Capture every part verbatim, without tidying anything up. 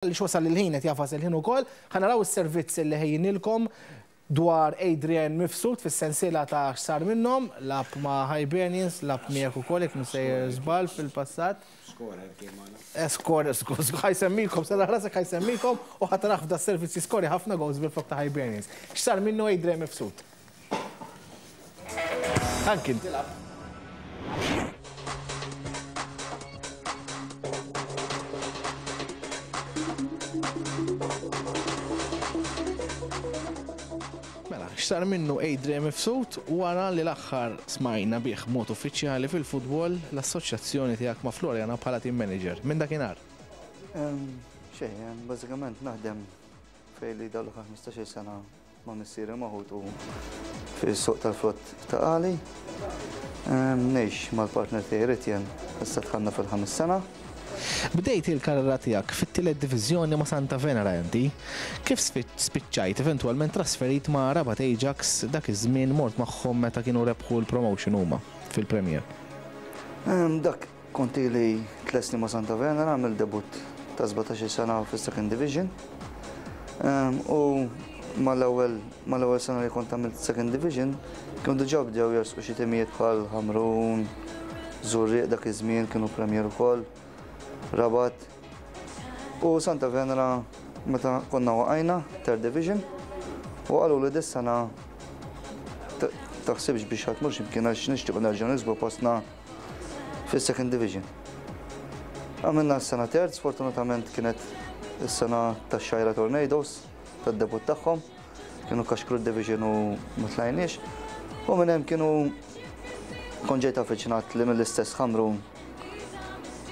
Li wasal il-ħin qed jagħfas il-ħin ukoll, ħa naraw is-servizz li ħejjinilkom dwar Adrian Mifsud fis-sensiela ta' x'sar minnhom, lagħab ma' Hibernians, lagħab miegħek ukoll jekk msejjer żball fil-passat. Skorer kien magħna. Skorer, ħa jsemmikom, sara rasek ħa jsemmikom u ħa taraw f'da servizz skorja ħafna goals bil-flok ta' Hibernians. X'sar minnu Adrian Mifsud? Anki tilab. Mela, x'sar minnu Adrian Mifsud wara li l-aħħar smajna bih mod uffiċjali fil-futbol l-assoċjazzjoni tiegħek ma' Floriana bħala team manager. Minn dakinhar? Xejn, bażikament naħdem fejn li dawn l-aħħar ħmistax-il sena ma' missieri ma' ħutu fis-suq tal-frott Ta' Qali. Ngħix mal-partner tiegħi Ritjen, issa dħalna fil-ħames sena. Bdejt il-karriera tiegħek fit-tielet diviżjoni ma' Santa Venera inti. Kif spiċċajt eventwalment trasferit ma' Rabat Ajax dak iż-żmien mort magħhom meta kienu rebħu l-promotion huma fil-Premier? Dak kont ili tliet snin ma' Santa Venera, għamil debut ta' sbatax-il sena fis-Second Division. U mal-ewwel mal-ewwel sena li kont għamilt Second Division, kienu diġà bdew jersqu xi timijiet bħal Ħamrun, Żurrieq dak iż-żmien kienu Premier ukoll, Rabat. U Santa Venera meta konna waqajna Third Division u qalu li dis-sena taħsibx biex ħadd mhux imkien għax nixtiequ nerġgħu nisbu postna fis-Second Division. Għamilna s-sena terz, sfortunatament kienet is-sena tax-Xgħajra Tornadoes tad-debut tagħhom, kienu kaxkru d-division u ma tlajniex. U minn hemm kienu kont ġejt affiċinat li mill-istess Ħamrun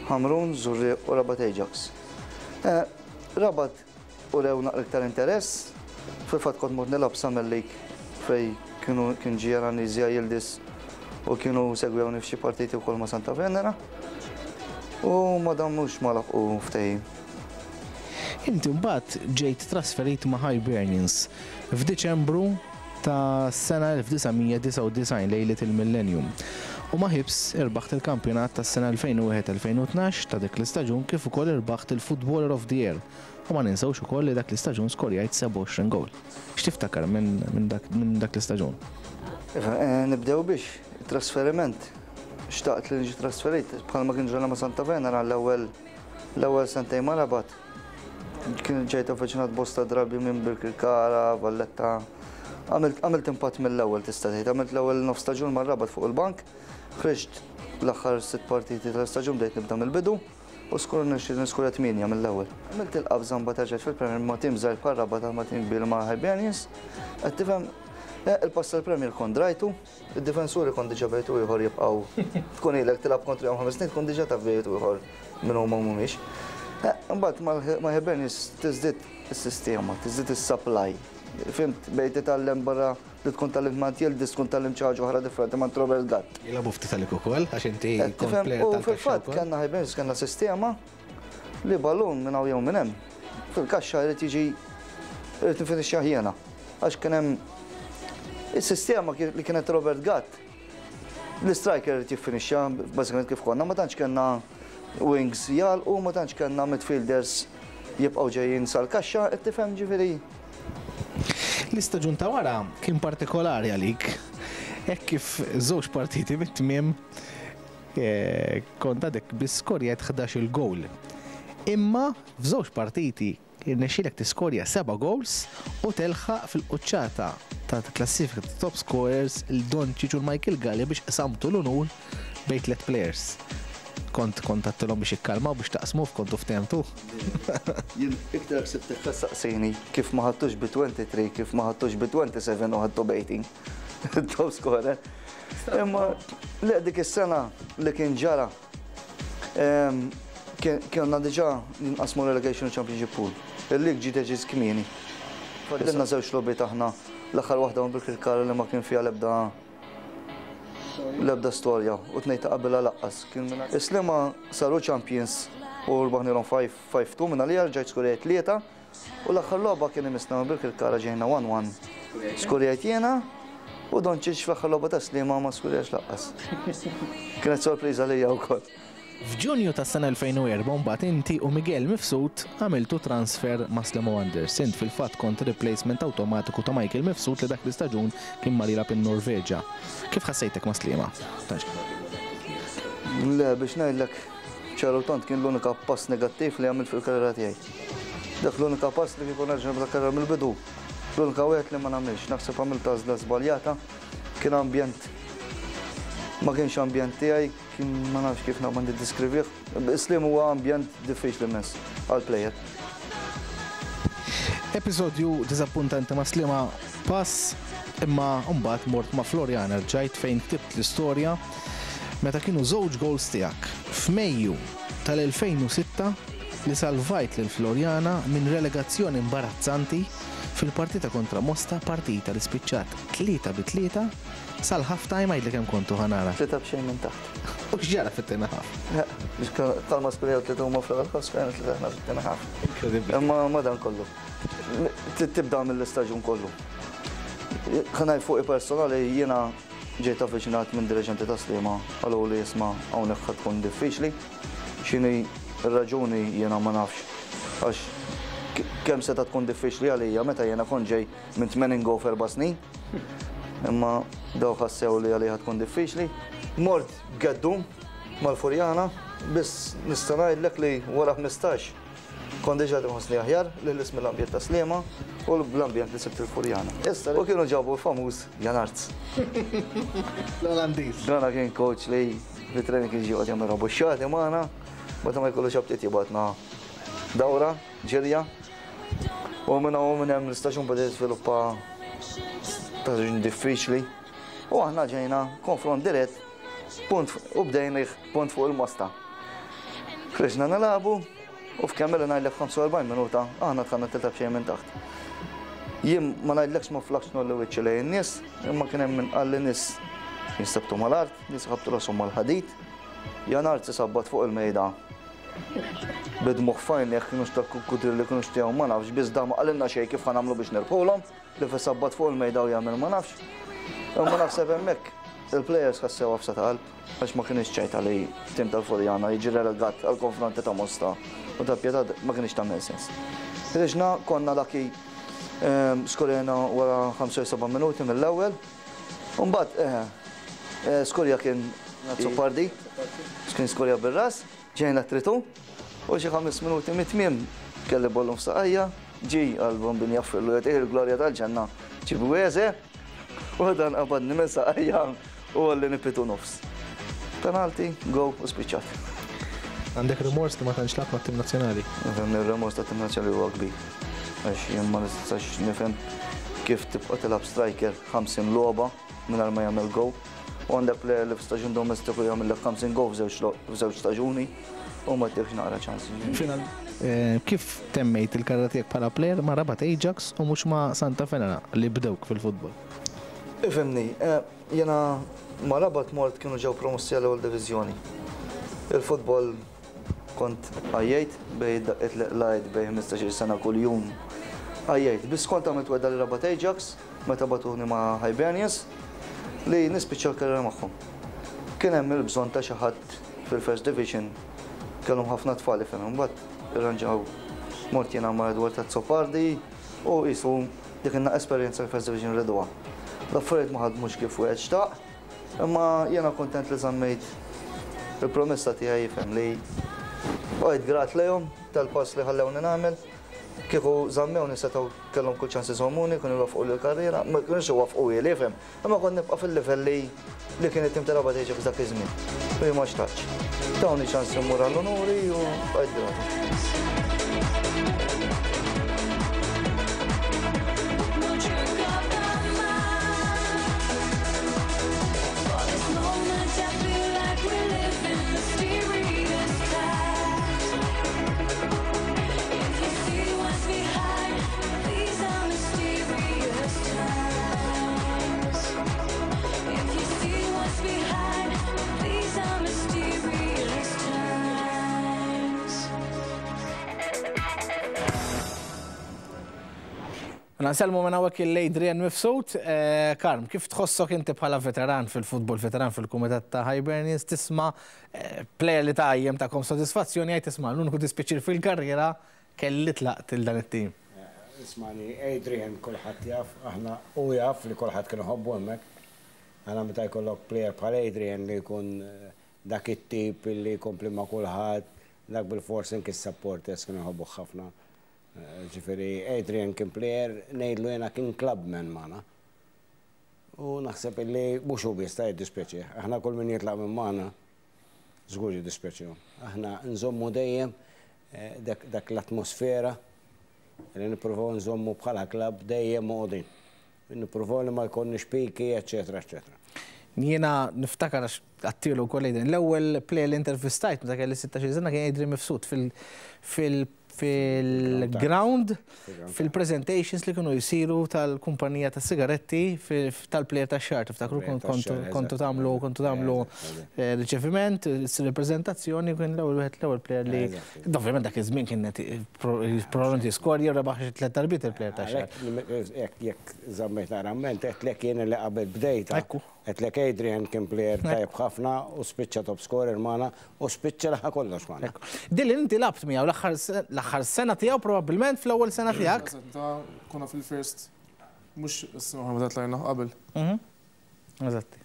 Ħamrun, Żurrieq u Rabat Ajax. Rabat urew naqra iktar interess, fil-fatt kont mort nilgħab Summer League fej kienu kien ġie Ranizja Yildiz u kienu segwewni f'xi partiti wkoll ma' Santa Venera. U ma damux ma laħqu ftehim. Inti mbagħad ġejt trasferit ma' Hibernians f'Diċembru ta' sena elf disa' mija disgħa u disgħin lejliet il-Millennium. U ma' Hibs irbaħt il-kampjonat tas-sena elfejn u wieħed elfejn u tnax ta' dik l-istaġun kif ukoll irbaħt il-Footballer of the Year. U ma ninsewx ukoll li dak l-istaġun skorjajt sebgħa u għoxrin goal. X'tiftakar minn, minn dak, minn dak l-istaġun? Iva, eh, nibdew biex trasferiment. Xtaqt li niġi trasferit bħalma kien ġrana ma' Santa Venera l-ewwel, l-ewwel sentejn ma' Rabat. Kien ġejt avviċinat bosta drabi minn Birkirkara, Valletta. Għamilt, għamilt impatt mill-ewwel tista' tgħid. Għamilt l-ewwel nofs staġun ma' Rabat fuq il-bank. Ħriġt l-aħħar sitt partiti tal-istaġun bdejt nibda mill-bidu u skur niskurja tmienja mill-ewwel. Għamilt il-qabża mbagħad erġajt fil-Premier ma' tim żgħir bħal Rabat ma' tim kbir ma' Hibernians. Qed tifhem, eh, il-pass tal-Premier kont drajtu, id-difensuri kont diġà bejtu ieħor jibqgħu tkun ilek tilgħab kontrihom ħames snin tkun diġà taf bejtu ieħor minn huma mhumiex. Eh, imbagħad ma' Hibernians tiżdied is-sistema, tiżdied is-supply. Fimt, bejt titgħallem barra li tkun tgħallimt ma' Yildiz, tkun tgħallimt xi ħaġa oħra differenti ma' Robert Gatt. Jilagħbu ftit għalik ukoll, għax inti Eh, kont tifhem, player u tal-kaxxa fil-fatt wkoll. kellna Hibernians, kellna sistema li ballun minn hawn jew minn hemm. Fil-kaxxa jrid jiġi jrid nifinixxa jiena. Għax kien hemm is-sistema li kienet Robert Gatt. L-striker jrid jiffinixxa bażikament kif konna, ma tantx kellna wings jagħlqu, ma tantx kellna midfielders jibqgħu ġejjin sal-kaxxa, qed tifhem ġifieri. L-istaġun ta' wara kien partikolari għalik, hekk kif żewġ partiti mit-tmiem, eh, kont għadek biss skorjajt ħdax-il goal. Imma f'żewġ partiti irnexxielek tiskorja seba' goals u telħaq fil-quċċata ta' klassifika ta' top scorers il-Doncic u l-Michael Galea biex qsamtu l-unur bejn tliet players. Kont kontattilhom biex ikkalmaw biex taqsmu f'kontu ftehmtu. Jien iktar ksibtek tistaqsini kif ma ħadtux bi twenty-three, kif ma ħadtux bi twenty-seven u ħadtu b'eighteen. Top scorer. Imma le dik is-sena li kien ġara, em, kien, kienna diġà ninqasmu relegation championship pool. Il-lig ġie deċiż kmieni. Fadilna żewġ logħbiet aħna, l-aħħar waħda ma' Birkirkara li ma kien fiha l-ebda l-ebda storja u tnejn ta' qabilha laqqas. Kien minn Is-Sliema saru champions u rbaħnilhom five, five two minn għalija rġajt skurjajt tlieta u l-aħħar logħba kien imissna ma' Birkirkara ġejna one one. Skurjajt jiena u Doncic fl-aħħar logħba ta' Sliema ma skurjax laqqas. Kienet sorpriża lija wkoll. F'Ġunju tas-sena elfejn u erbgħa mbagħad inti u Miguel Mifsud għamiltu transfer ma' Sliema Wanderers. Int fil-fatt kont replacement awtomatiku ta' Michael Mifsud li dak l-istaġun kien mar jilgħab in-Norveġa. Kif ħassejtek ma' Sliema? Le, biex ngħidlek ċaru tant, kien l-unika pass negattiv li għamilt fil-karriera tiegħi. Dak l-unika pass li kieku nerġa' nibda karriera mill-bidu. L-unika wieħed li ma nagħmilx, naħseb għamilt għażla żbaljata, kien ambjent ma kienx ambjent tiegħi, kien ma nafx kif naqbad niddiskrivih. Sliema huwa ambjent diffiċli immens għal player. Episodju diżappuntanti ma' Sliema pass, imma mbagħad mort ma' Floriana, rġajt fejn ktibt l-istorja meta kienu żewġ goals tiegħek f'Mejju tal-elfejn u sitta li salvajt lil Floriana minn relegazzjoni imbarazzanti fil-partita kontra Mosta, partita li spiċċat tlieta bi tlieta sal-half time. Għidli kemm kontu, ħa nara. Tlieta b'xejn minn taħt. U x'ġara fit-tieni half? Biex kalma skorjaw tlieta huma fl-ewwel half, skorjaw tlieta aħna fit-tieni half. Inkredibbli. Imma madan kollu. Tibda mill-istaġun kollu. Ħa ngħid fuqi personali, jiena ġejt avviċinat minn dirigenti ta' Sliema, qalu li isma', hawnhekk ħa tkun diffiċli. X'inhi r-raġuni jiena ma nafx. Għax kemm seta' tkun diffiċli għalija meta jiena kont ġej minn tmenin goal f'erba' snin. Imma daw ħassew li għalija tkun diffiċli. Mort geddum mal-Furjana, biss nista' ngħidlek li wara ħmistax kont diġà nħossni aħjar li l-ismi l-ambjent ta' Sliema u l-ambjent li sibt il-Furjana. Issa, u kienu ġabu l-famuż Jan Arts. L-Olandiż. Dana kien coach li fit-training kien ġie jagħmel rabuxxati magħna, meta ma jkollux aptit jibgħatna dawra, ġirja. U minn hawn minn hemm l-istaġun beda jiżviluppa staġun diffiċli. U aħna ġejna konfront dirett, punt u bdejna punt fuq il-Mosta. Ħriġna nilagħbu u f'kemm li ngħidlek ħamsa u erbgħin minuta aħna dħalna tlieta b'xejn minn taħt. Jien ma ngħidlekx ma flaħtx ngħolli wiċċi lejn in-nies, imma kien hemm min qal li nies jinstabtu mal-art, nies ħabtu rashom mal-ħadid. Jan Arts isabbat fuq il-mejda bid-dmugħ f'għajnejh, kienux ta' kukudrilli kienux tiegħu ma nafx, biss da ma qalilna xejn kif ħa nagħmlu biex nirbħulhom, li fisabbat fuq il-mejda u jagħmel ma nafx. Imma naħseb hemmhekk il-players ħassew għafsa ta' qalb għax ma kienx ċajta li tim tal-Furjana jiġi relegat għal konfronti ta' Mosta u ta' Pietà, ma kienx tagħmel sens. Riġna konna lucky, ehm, skorjena wara ħamsa u sebgħin minuti mill-ewwel. Mbagħad eh, eh, skorja kien Azzopardi, kien skorja bir-ras, ġejna three two u xi ħames minuti mit-tmiem kelli ballun f'saqajja, ġi għal-bombin jaffillu jagħtih il-glorja tal-ġenna Ċibweze u dan qabadni minn saqajja u għalli nipitu nofs. Penalti, go u spiċċat. Għandek rimors li ma tantx lgħabt mat-tim nazzjonali? Nifhem li r-remors ta' tim nazzjonali huwa kbir. Għax jien ma nistax nifhem kif tibqa' tilgħab striker ħamsin logħba mingħajr ma jagħmel go. U għandek player li f'staġun domestiku jagħmel ħamsin go f'żewġ staġuni u ma tieħx naqra ċans. Final. Eh, kif temmejt il-karriera tiegħek bħala player ma' Rabat Ajax u mhux ma' Santa Venera li bdewk fil-futbol? Ifhimni, eh, jena ma' Rabat mort kienu ġew promossi għall-ewwel diviżjoni. Il-futbol kont għajjejt bej daqqet lajt bej ħmistax-il sena kull-jum. Għajjejt, biss kont għamilt wegħda li Rabat Ajax meta bagħtuni ma' Hibernians li nispiċċa l-karriera magħhom. Kien hemm il-bżonn ta' xi ħadd fil-First Division, kellhom ħafna tfal ifhem, imbagħad irranġaw mort jiena ma' Edward Azzopardi u qisu dik inna esperjenza l-First Division riduha. L-affarijiet ma ħadmux kif wieħed xtaq, imma jiena kontent li żammejt il-promessa tiegħi, jifhem li bqajt grat lejhom tal-pass li ħallewni nagħmel. Kieku żammewni setgħu kellhom kull ċans iżommuni, kienu jwafqu l-karriera, ma kienux iwafqu li jifhem, imma kont nibqa' fil-livell li li kien it-tim ta' Rabat Ajax dak iż-żmien. U jien ma xtaqtx. Tawni ċans immur għall-onuri u bqajt grat. Won't you go my For this moment I feel like we live in mysterious times. If you see what's behind these are mysterious times. If you see what's behind these are mysterious times. Nsellmu minn hawnhekk lil Adrian Mifsud. Eh, Karm, kif tħossok inti bħala veteran fil-futbol, veteran fil-kumitat ta' Hibernians, tisma' eh, player li ta' jem ta' kom soddisfazzjoni għaj tisma' l-uniku dispjaċir fil-karriera kelli tlaqt il dan it-tim? Ismani, Adrian kulħadd jaf, aħna u jaf li kulħadd kien iħobbu hemmhekk. Aħna meta jkollok player bħal Adrian li jkun eh, dak it-tip li jkompli ma' kulħadd, dak bil-forsi anki s-supporters kienu jħobbu ħafna. Eh, Ġifieri Adrian kien player, ngħidlu jena, kien clubman magħna. U naħseb illi mhux hu biss ta' jiddispjaċih. Aħna kull min jitlaq minn magħna żgur jiddispjaċihom. Aħna nżommu dejjem eh, dak dak l-atmosfera li nippruvaw nżommu bħala klab dejjem magħqudin. Nippruvaw li ma jkollniex piki, eċetera, eċetera. Jiena niftakar għax għattilu kol Adrian. L-ewwel player li intervistajt meta kelli sittax-il sena kien Adrian Mifsud fil- fil- fil-ground, fil-presentations li kienu jisiru tal-kumpanija ta' sigaretti fil- tal-player ta' xahar. Tiftakru Player kontu tax-xahar, kontu eżatt. tagħmlu kontu tagħmlu Eżatt, eh, riċeviment, reprezentazzjoni, kien l-ewwel wieħed, l-ewwel player li Eżatt. ovvjament dak iż-żmien kien probabbilment jiskorja rebaħ xi tliet darbiet il-player ta' xahar. Għalhekk, jekk jekk żammejt narament, għedtlek jien li qabel bdejta. Ekku. Għedtlek Adrian kien player tajb ħafna u spiċċa top scorer magħna u spiċċa laħa kollox magħna. Ekku. Dilli inti lgħabt miegħu l-aħħar se- l-aħħar sena tiegħu, probabbilment fl-ewwel sena tiegħek. Ta' konna fil-first, mhux is-sena meta tlajna, qabel. Mhm. Eżatti.